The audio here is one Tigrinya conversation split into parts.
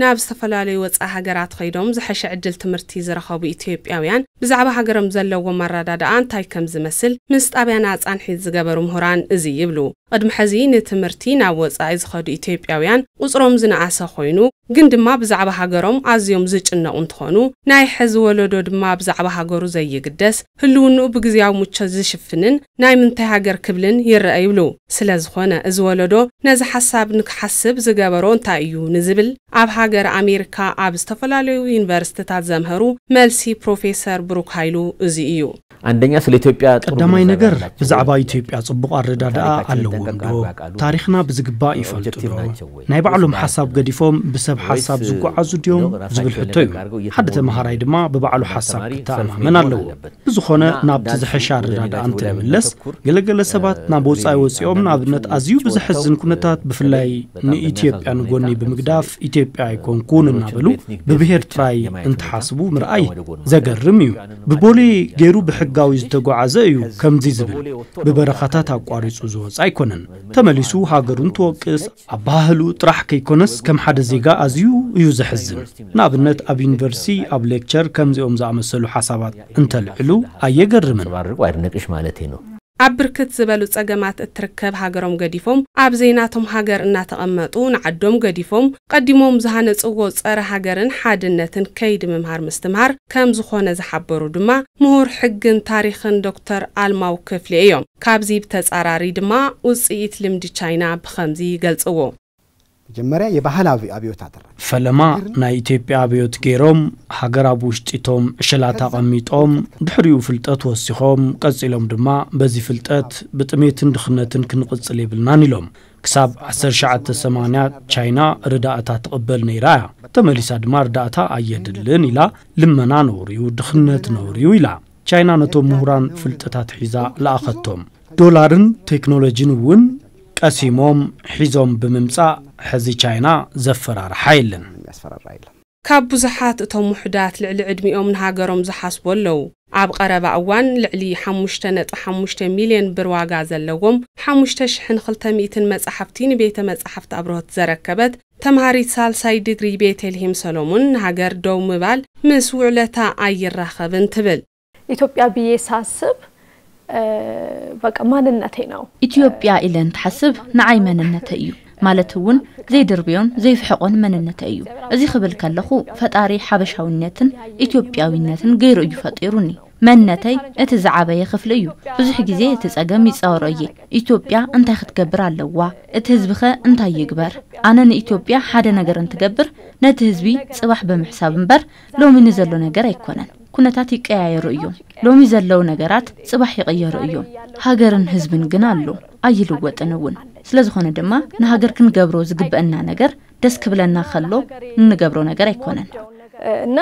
ናብ ዝተፈላለዩ ወፃኢ ሃገራት ኸይዶም ዝሐሸ ዕድል ትምህርቲ ዝረኸቡ ኢትዮጵያውያን ብዛዕባ ሃገሮም ዘለዎም ኣረዳድኣ እንታይ ከም ዝመስል ምስ ጣብያና ፃንሒት ዝገበሩ ምሁራን እዚ ይብሉ። ቅድሚ ሕዚ ንትምህርቲ ናብ ወፃኢ ዝኸዱ ኢትዮጵያውያን ቁፅሮም ዝነኣሰ ኮይኑ፣ ግን ድማ ብዛዕባ ሃገሮም ኣዝዮም ዝጭነቑ እንትኾኑ፣ ናይ ሕዚ ወለዶ ድማ ብዛዕባ ሃገሩ ዘይግደስ፣ ህልውንኡ ብግዝያዊ ምቾት ዝሽፍንን ናይ ምንታይ ሃገር ክብልን ይረአ ይብሉ። ስለ ዝኾነ እዚ ወለዶ ነዚ ሓሳብ ንክሓስብ ዝገበሮ እንታይ እዩ ንዝብል፣ ኣብ ሃገር ኣሜሪካ ኣብ ዝተፈላለዩ ዩኒቨርሲቲታት ዘምሀሩ መልሲ ፕሮፌሰር ብሩክ ሃይሉ እዚ እዩ። አንደኛ ስለ ኢትዮጵያ ጥሩ ቀዳማይ ግንዛቤ ነገር አላቸው። ብዛዕባ ኢትዮጵያ ጽቡቕ ኣረዳድኣ ታሪካቸውን ኣለዎም ጠንቀቅ ዶ? አድርገው ያውቃሉ? ታሪኽና ብዝግባእ ይፈልጡ ኦብጀክቲቭ ዶ? ናቸው ወይ? ናይ ባዕሎም ብዙ ሓሳብ ማለት ገዲፎም ብሰብ ወይስ ሓሳብ ዝጓዓዙ ድዮም ነው ራሳቸው ዝብል ሕቶ እዩ። እንደሚያደርገው ሓደ እየተወኑ ተምሃራይ ያሉት? ድማ ብባዕሉ ሓሳብ በተማሪ ሰልፍ ክተኣማመን መሆን ኣለዎ። አለበት። ብዝኾነ እና ናብቲ እንዳልኩ ዝሐሻ ወደ ኣረዳድኣ ኔትወርክ እንትንምለስ ተኩር፣ ገለገለ ሰባት ናብ ወፃኢ ወፂኦም ንኣብነት ኣዝዩ ብዝሐዝን ኩነታት ብፍላይ ንኢትዮጵያ ንጎኒ ብምግዳፍ ኢትዮጵያ ኣይኮንኩን እናበሉ ብብሔር ጥራይ እንትሓስቡ ምርኣይ ዘገርም እዩ። ብቦሌ ገይሩ ብሕጋዊ ዝተጓዓዘ እዩ ከምዚ ዝብል፣ ብበረኻታት ኣቋሪፁ ዝወፅ ኣይኮነን። ተመሊሱ ሃገሩ እንትወቅስ ኣባህሉ ጥራሕ ከይኮነስ ከም ሓደ ዜጋ ኣዝዩ እዩ ዘሕዝን። ንኣብነት ኣብ ዩኒቨርሲቲ ኣብ ሌክቸር ከምዚኦም ዝኣመሰሉ ሓሳባት እንተልዕሉ ኣየገርምን። አንጸባርቁ አይድነቅሽ ማለቴ ነው። ኣብ ብርክት ዝበሉ ጸገማት እትርከብ ሃገሮም ገዲፎም ኣብ ዘይናቶም ሃገር እናተቐመጡ ንዓዶም ገዲፎም ቀዲሞም ዝሃነጽዎ ጸረ ሃገርን ሓድነትን ከይዲ ምምሃር ምስትምሃር ከም ዝኾነ ዝሓበሩ ድማ ምሁር ሕግን ታሪኽን ዶክተር ኣልማው ክፍሌ እዮም። ካብዚ ብተጻራሪ ድማ ውጽኢት ልምዲ ቻይና ብኸምዚ ይገልጽዎ። መጀመርያ የባህል ኣብ- ኣብዮት ኣደረገ። ፈለማ ናይ ኢትዮጵያ ኣብዮት ገይሮም ሃገር ኣብ ውሽጢቶም ዕሸላት ኣቐሚጦም ድሕሪኡ ፍልጠት ወሲኾም ቀጺሎም ድማ በዚ ፍልጠት ብጥሜትን ድኽነትን ክንቕጽል የብልናን ኢሎም። ክሳብ ዓሰርተ ትሽዓተ ሰማንያ ቻይና ርዳእታ ትቕበል ነይራ እያ። ተመሊሳ ድማ ርዳእታ ኣየድልን ኢላ ልመና ነውርዩ ድኽነት ነውርዩ ኢላ። ቻይና ነቶም ምሁራን ፍልጠታት ሒዛ ለኣኸቶም። ዶላርን ቴክኖሎጂን እውን ቀሲሞም ሒዞም ብምምጻእ ሕዚ ቻይና ዘፈራርሓ የለን። የሚያስፈራራ የለም። ካብ ብዙሓት እቶም ውሑዳት ልዕሊ ዕድሚኦም ንሃገሮም ዝሓስቡ ኣለዉ። ኣብ ቐረባ እዋን ልዕሊ ሓሙሽተ ነጥቢ ሓሙሽተ ሚልዮን ብር ዋጋ ዘለዎም ሓሙሽተ ሽሕን ክልተ ሚእትን መጻሕፍቲ ንቤተ መጻሕፍቲ ኣብርሆት ዘረከበት ተምሃሪት ሳልሳይ ድግሪ ቤተልሄም ሰሎሙን ንሃገር ደው ምባል ምስ ውዕለታ ኣይራኸብን ትብል። ኢትዮጵያ ብዬ ሳስብ በቃ ማንነቴ ነው። ኢትዮጵያ ኢለ እንትሓስብ ንዓይ መንነተይ እዩ። ማለት እውን ዘይድርብዮን ዘይፍሕቆን መንነተይ እዩ። እዚ ክብል ከለኹ ፈጣሪ ሓበሻውነትን ኢትዮጵያዊነትን ገይሩ እዩ ፈጢሩኒ። መንነተይ እቲ ዝዓበየ ክፍሊ እዩ። ብዙሕ ግዜ እቲ ጸገም ይጻወሮ እየ። ኢትዮጵያ እንታይ ክትገብር ኣለዋ? እቲ ህዝብኸ እንታይ ይግበር? ኣነ ንኢትዮጵያ ሓደ ነገር እንትገብር ነቲ ህዝቢ ጽባሕ ብምሕሳብ እምበር ሎሚ ንዘሎ ነገር ኣይኮነን። ኩነታት ይቀያየሩ እዮም። ሎሚ ዘለዉ ነገራት ጽባሕ ይቕየሩ እዮም። ሃገርን ህዝብን ግን ኣሎ፣ ኣይልወጥን እውን። ስለዝኾነ ድማ ንሃገር ክንገብሮ ዝግበአና ነገር ደስ ክብለና ከሎ እንገብሮ ነገር ኣይኮነን። እና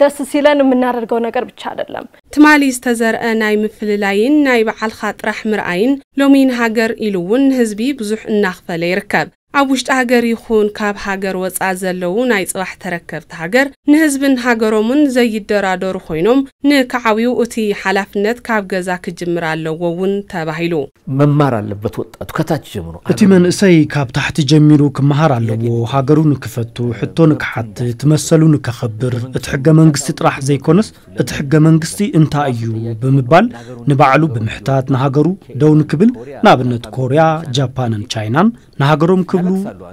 ደስ ሲለን የምናደርገው ነገር ብቻ አይደለም። ትማሊ ዝተዘርአ ናይ ምፍልላይን ናይ በዓልኻ ጥራሕ ምርኣይን ሎሚ ንሃገር ኢሉ እውን ንህዝቢ ብዙሕ እናኽፈለ ይርከብ። ኣብ ውሽጢ ሃገር ይኹን ካብ ሃገር ወፃእ ዘለዉ ናይ ፅባሕ ተረከብቲ ሃገር ንህዝብን ሃገሮምን ዘይደራደሩ ኮይኖም ንክዓብዩ እቲ ሓላፍነት ካብ ገዛ ክጅምር ኣለዎ እውን ተባሂሉ። መማር ኣለበት ወጣቱ ከታች ጀምሮ። እቲ መንእሰይ ካብ ታሕቲ ጀሚሩ ክመሃር ኣለዎ። ሃገሩ ንክፈቱ፣ ሕቶ ንክሓትት፣ መሰሉ ንከኸብር፣ እቲ ሕገ መንግስቲ ጥራሕ ዘይኮነስ እቲ ሕገ መንግስቲ እንታይ እዩ ብምባል ንባዕሉ ብምሕታት ንሃገሩ ደው ንክብል ንኣብነት ኮርያ፣ ጃፓንን ቻይናን ንሃገሮም ክብሉ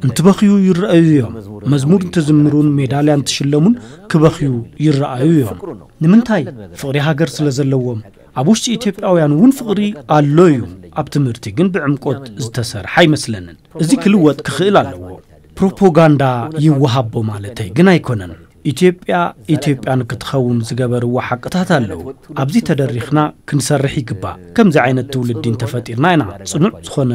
እንትበኽዩ ይረኣዩ እዮም። መዝሙር እንትዝምሩን ሜዳልያ እንትሽለሙን ክበኽዩ ይረኣዩ እዮም። ንምንታይ? ፍቕሪ ሃገር ስለ ዘለዎም። ኣብ ውሽጢ ኢትዮጵያውያን እውን ፍቕሪ ኣሎ እዩ። ኣብ ትምህርቲ ግን ብዕምቆት ዝተሰርሐ ኣይመስለንን። እዚ ክልወጥ ክኽእል ኣለዎ። ፕሮፓጋንዳ ይወሃቦ ማለተይ ግን ኣይኮነን። ኢትዮጵያ ኢትዮጵያ ንክትኸውን ዝገበርዎ ሓቅታት ኣለዉ። ኣብዚ ተደሪኽና ክንሰርሕ ይግባእ። ከምዚ ዓይነት ትውልዲ እንተፈጢርና ኢና ጽኑዕ ዝኾነ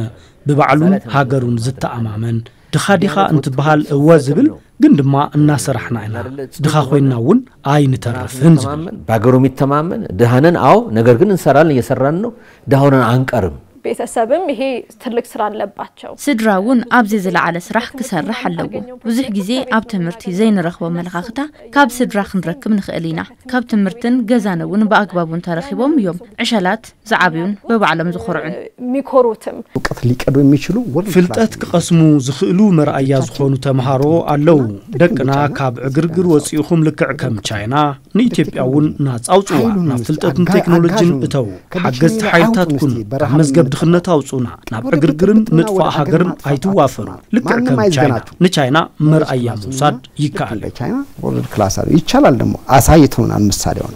ብባዕሉን ሃገሩን ዝተኣማመን። ድኻ ዲኻ እንትበሃል እወ ዝብል ግን ድማ እናሰራሕና ኢና። ድኻ ኮይንና እውን ኣይንተርፍን ዝብል። በሀገሩ የሚተማመን ድሃነን፣ አዎ፣ ነገር ግን እንሰራለን፣ እየሰራን ነው። ድሃ ሆነን አንቀርም። ቤተሰብም ይሄ ትልቅ ስራ አለባቸው። ስድራ እውን ኣብዚ ዝለዓለ ስራሕ ክሰርሕ ኣለዎ። ብዙሕ ግዜ ኣብ ትምህርቲ ዘይንረኽቦ ኣመለኻኽታ ካብ ስድራ ክንረክብ ንኽእል ኢና። ካብ ትምህርትን ገዛን እውን ብኣግባቡ እንተረኺቦም እዮም ዕሸላት ዝዓብዩን በባዕሎም ዝኾርዑን። የሚኮሩትም እውቀት ሊቀዱ የሚችሉ ወርልድ ፍልጠት ክቐስሙ ዝኽእሉ መርኣያ ዝኾኑ ተምሃሮ ኣለዉ። ደቅና ካብ ዕግርግር ወፂእኹም ልክዕ ከም ቻይና ንኢትዮጵያ እውን ናፃ ኣውፅዋ። ናብ ፍልጠትን ቴክኖሎጂን እተው። ሓገዝቲ ሓይልታት ኩኑ። ካብ መዝገብ ድኽነት ኣውፁና። ናብ ዕግርግርን ምጥፋእ ሃገርን ኣይትዋፈሩ። ልክዕ ከም ቻይና። ንቻይና መርኣያ ምውሳድ ይከኣል። ቻይና ወርልድ ክላስ ይቻላል። ደግሞ አሳይተውናል ምሳሌ ሆነ